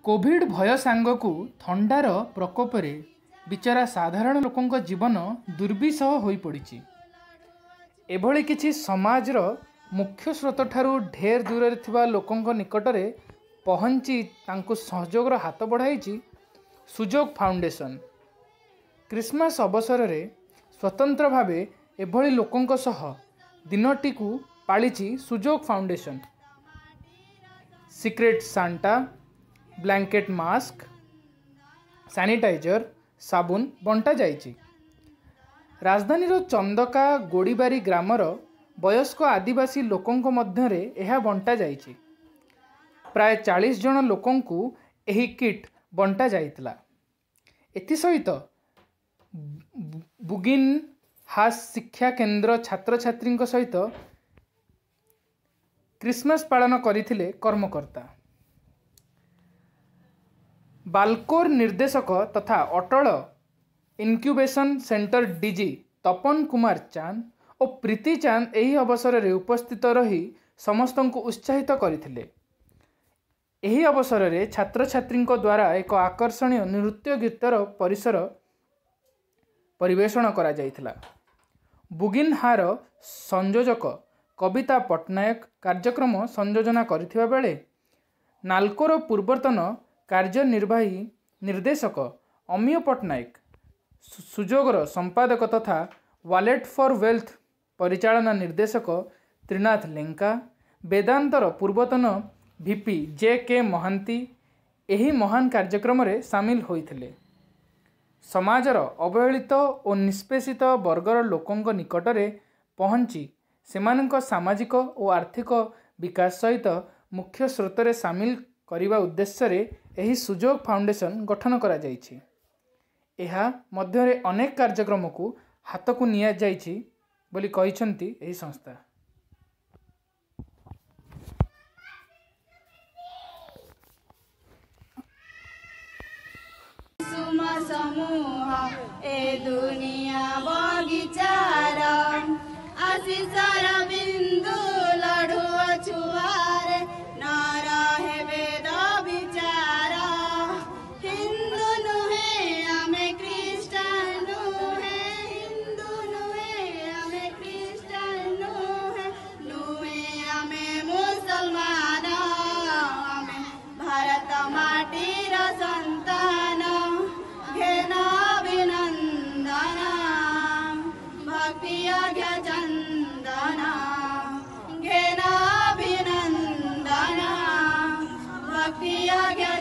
Covid ଭୟ ସାଙ୍ଗକୁ ଥଣ୍ଡାର ପ୍ରକୋପରେ ବିଚରା ସାଧାରଣ ଲୋକଙ୍କ ଜୀବନ ଦୁର୍ବିସହ ହୋଇପଡ଼ିଛି। ଏଭଳି କିଛି ସମାଜର ମୁଖ୍ୟ ସ୍ରୋତଠାରୁ ଢେର ଦୂରରେ ଥିବା ଲୋକଙ୍କ ନିକଟରେ ପହଞ୍ଚି ତାଙ୍କୁ ସହଯୋଗର ହାତ ବଢ଼ାଇଛି ସୁଯୋଗ ଫାଉଣ୍ଡେସନ୍। କ୍ରିସମାସ୍ ଅବସରରେ ସ୍ୱତନ୍ତ୍ର ଭାବେ ଏଭଳି ଲୋକଙ୍କ ସହ ଦିନଟିକୁ ପାଳିଛି Sujog foundation. Secret Santa, blanket, mask, sanitizer, ସାବୁନ ବଣ୍ଟାଯାଇଛି। ରାଜଧାନୀର ଚନ୍ଦକା ଗୋଡ଼ିବାରୀ ଗ୍ରାମର ବୟସ୍କ ଆଦିବାସୀ ଲୋକଙ୍କ ମଧ୍ୟରେ ଏହା ବଣ୍ଟାଯାଇଛି। ପ୍ରାୟ 40 ଜଣ ଲୋକଙ୍କୁ ଏହି କିଟ୍ ବଣ୍ଟା ଯାଇଥିଲା। ଏଥିସହିତ ବୁଗିନ୍ ହାସ୍ ଶିକ୍ଷା କେନ୍ଦ୍ର ଛାତ୍ରଛାତ୍ରୀଙ୍କ ସହିତ କ୍ରିସମାସ୍ ପାଳନ କରିଥିଲେ କର୍ମକର୍ତ୍ତା। ବାଲ୍କୋର ନିର୍ଦ୍ଦେଶକ ତଥା Atal incubation centre DG Tapan Kumar Chand ଓ ପ୍ରୀତି ଚାନ୍ଦ ଏହି ଅବସରରେ ଉପସ୍ଥିତ ରହି ସମସ୍ତଙ୍କୁ ଉତ୍ସାହିତ କରିଥିଲେ। ଏହି ଅବସରରେ ଛାତ୍ରଛାତ୍ରୀଙ୍କ ଦ୍ୱାରା ଏକ ଆକର୍ଷଣୀୟ ନୃତ୍ୟ ଗୀତର ପରିସର ପରିବେଷଣ କରାଯାଇଥିଲା। ବୁଗିନ୍ହାର ସଂଯୋଜକ କବିତା ପଟ୍ଟନାୟକ କାର୍ଯ୍ୟକ୍ରମ ସଂଯୋଜନା କରିଥିବା ବେଳେ ନାଲ୍କୋର ପୂର୍ବତନ କାର୍ଯ୍ୟନିର୍ବାହୀ ନିର୍ଦ୍ଦେଶକ ଅମୀୟ ପଟ୍ଟନାୟକ, ସୁଯୋଗର ସମ୍ପାଦକ ତଥା ୱାଲେଟ୍ ଫର୍ ୱେଲ୍ଥ ପରିଚାଳନା ନିର୍ଦ୍ଦେଶକ ତ୍ରିନାଥ ଲେଙ୍କା, ବେଦାନ୍ତର ପୂର୍ବତନ ଭିପି ଜେ କେ ମହାନ୍ତି ଏହି ମହାନ କାର୍ଯ୍ୟକ୍ରମରେ ସାମିଲ ହୋଇଥିଲେ। ସମାଜର ଅବହେଳିତ ଓ ନିଷ୍ପେଷିତ ବର୍ଗର ଲୋକଙ୍କ ନିକଟରେ ପହଞ୍ଚି ସେମାନଙ୍କ ସାମାଜିକ ଓ ଆର୍ଥିକ ବିକାଶ ସହିତ ମୁଖ୍ୟ ସ୍ରୋତରେ ସାମିଲ କରିବା ଉଦ୍ଦେଶ୍ୟରେ ଏହି ସୁଯୋଗ ଫାଉଣ୍ଡେସନ୍ ଗଠନ କରାଯାଇଛି। ଏହା ମଧ୍ୟରେ ଅନେକ କାର୍ଯ୍ୟକ୍ରମକୁ ହାତକୁ ନିଆଯାଇଛି ବୋଲି କହିଛନ୍ତି ଏହି ସଂସ୍ଥା। ସୁମ ସମୂହ ଏ ଦୁନିଆ ବଗିଚାର, ଆଶିଷର ବିନ୍ଦୁ ଲଢୁଆ ଛୁଆରେ ନ ରହେ ବେଦ ବିଚାର। ହିନ୍ଦୁ ନୁହେଁ ଆମେ ଖ୍ରୀଷ୍ଟାନ ନୁହେଁ, ହିନ୍ଦୁ ନୁହେଁ ଆମେ ଖ୍ରୀଷ୍ଟାନ ନୁହେଁ, ନୁହେଁ ଆମେ ମୁସଲମାନ, ଆମେ ଭାରତ ମାଟିର ସନ୍ତାନ। ଘେନ ଅଭିନନ୍ଦନ ଭକ୍ତି ଅଘ୍ୟ ଚନ୍ଦନ, ଘେନ ଅଭିନନ୍ଦନ ଭକ୍ତି ଅଘ୍ୟ